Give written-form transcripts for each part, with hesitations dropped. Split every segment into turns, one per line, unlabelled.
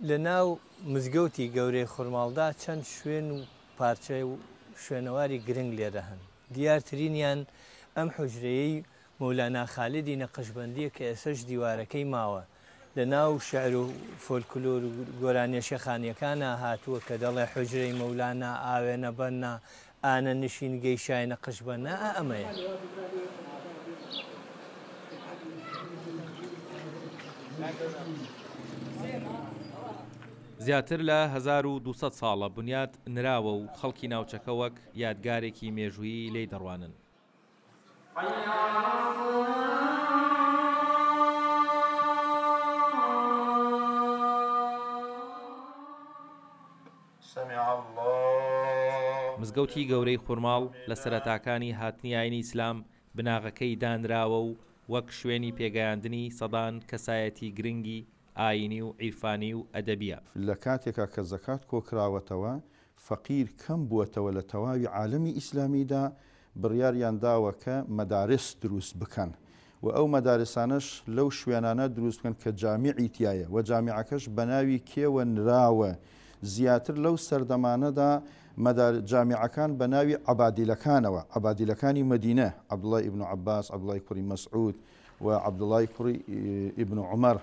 لە ناو مزگەوتی گەورەی خورماڵدا چەند شوێن و پارچە و شوێنەواری گرنگ لێرە هەن، دیارترینیان ئەم حوجرەیەی مەولانا خالیدی نەقشبەندییە کە ئێستەش دیوارەکەی ماوە، لە ناو شیعر و فۆلکلۆر و گۆرانییە شێخانییەکانا هاتووە کە دەڵێ حوجرەی مەولانا ئاوێنە بەننا ئانە نشینگەی شای نەقشبەننا ئا ئەمەیە.
زیاتر لە 1200 ساڵە بنیات نراوە و خەڵکی ناوچەکە وەک یادگارێکی مێژوویی لێی دەڕوانن. مزگەوتی گەورەی خورماڵ لە سەرەتاکانی هاتنی ئاینی ئیسلام بناغەکەی دانراوە و وەک شوێنی پێگەیاندنی سەدان کەسایەتی گرنگی ئایینی و عیرفانی و ئەدەبییە.
لە کاتێکا کە زەکات کۆکراوەتەوە فەقیر کەم بووەتەوە لە تەواوی عالەمی ئیسلامیدا بڕیاریان داوە کە مەدارس دروست بکەن و ئەو مەدارسانەش لەو شوێنانە دروست بکەن کە جامیعی تیایە و جامیعەکەش بە ناوی کێوە نراوە زیاتر لەو سەردەمانەدا مەدار جامیعەکان بە ناوی عەبادیلەکانەوە عەبادیلەکانی مەدینە عەبدوڵای ئیبن عەباس عەبدوڵای کوڕی مەسعود و عەبدوڵای کوڕی ئیبن عومەر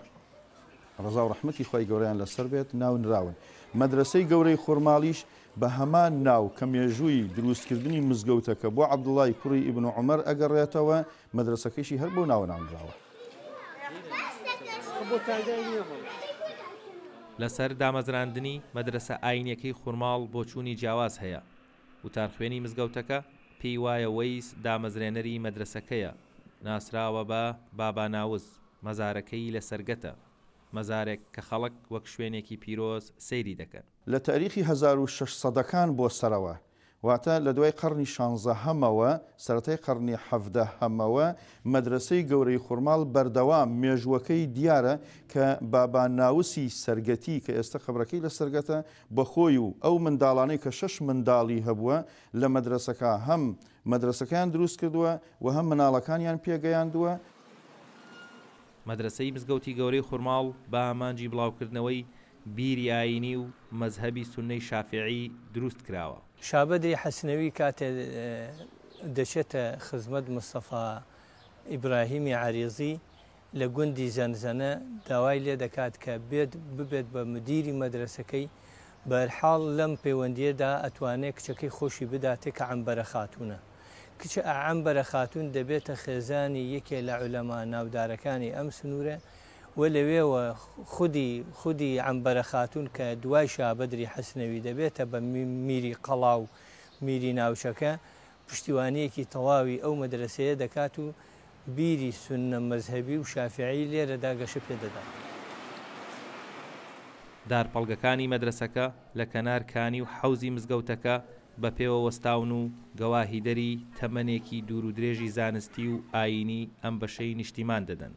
ڕەزا و ڕەحمەتی خوای گەورەیان لەسەر بێت ناو نراون. مەدرەسەی گەورەی خورماڵیش بە هەمان ناو کە مێژووی دروستکردنی مزگەوتەکە بۆ عەبدوڵای کوڕی ئیبن عومەر ئەگەڕێتەوە، مەدرەسەکەیشی هەر بەو ناوە ناونراوە.
لەسەر دامەزراندنی مەدرەسە ئایینیەکەی خورماڵ بۆچوونی جیاواز هەیە. وتارخوێنی مزگەوتەکە پێی وایە وەیس دامەزرێنەری مەدرەسەکەیە، ناسراوە بە بابا ناوز، مەزارەکەی لە سەرگەتە، مەزارێک کە خەڵک وەک شوێنێکی پیرۆز سەیری دەکەن.
لە تاریخی 1600 سەدەکان بۆ سەرەوە، واتە لە دوای قەڕنی شانزەهەمەوە، سەرەتای قەڕنی حەڤدەهەمەوە، مەدرەسەی گەورەی خورماڵ بەردەوام مێژووەکەی دیارە کە بابا ناوسی سەرگەتی کە ئێستە قەبرەکەی لە سەرگەتە بە خۆی و ئەو منداڵانەی کە شەش منداڵی هەبووە لە مەدرەسەکە هەم مەدرەسەکەیان دروست کردووە و هەم مناڵەکانیان پێگەیاندووە.
مەدرەسەی مزگەوتی گەورەی خورماڵ بە ئامانجی بڵاوکردنەوەی بیری ئایینی و مەزهەبی سوننەی شافیعی دروست کراوە.
شابەدری حەسنەوی کاتێ دەچێتە خزمەت مستەفا ئیبراهیمی عەریزی لە گوندی زەنزەنە داوای لێ دەکات کە بێت ببێت بە مدیری مەدرەسەکەی، بەهەرحاڵ لەم پەیوەندییەدا ئەتوانێ کچەکەی خۆشی بداتێ کە عەنبەرە خاتوونە. کچە عەنبەرە خاتوون دەبێتە خێزانی یەکێ لە عولەما ناودارەکانی ئەم سنوورە و لەوێوە خودی خودی عەنبەرە خاتوون کە دوای شابەدری حەسنەوی دەبێتە بە میری قەڵا و میری ناوچەکە پشتیوانییەکی تەواوی ئەو مەدرەسەیە دەکات و بیری سوننە مەزهەبی و شافیعی لێرەدا گەشە پێ دەدات.
دارپەڵگەکانی مەدرەسەکە لە کەنار کانی و حەوزی مزگەوتەکە بە پێوە وەستاون و گەواهیدەری تەمەنێکی دوورودرێژی زانستی و ئایینی ئەم بەشەی نیشتیمان دەدەن.